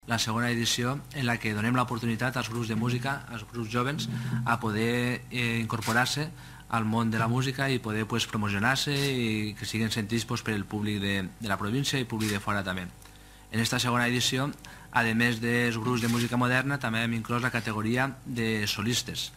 La segona edició en la que donem l'oportunitat als grups de música, als grups jovens, a poder incorporar-se al món de la música i poder promocionar-se i que siguin sentits per el públic de la província i públic de fora també. En aquesta segona edició, a més dels grups de música moderna, també hem inclòs la categoria de solistes.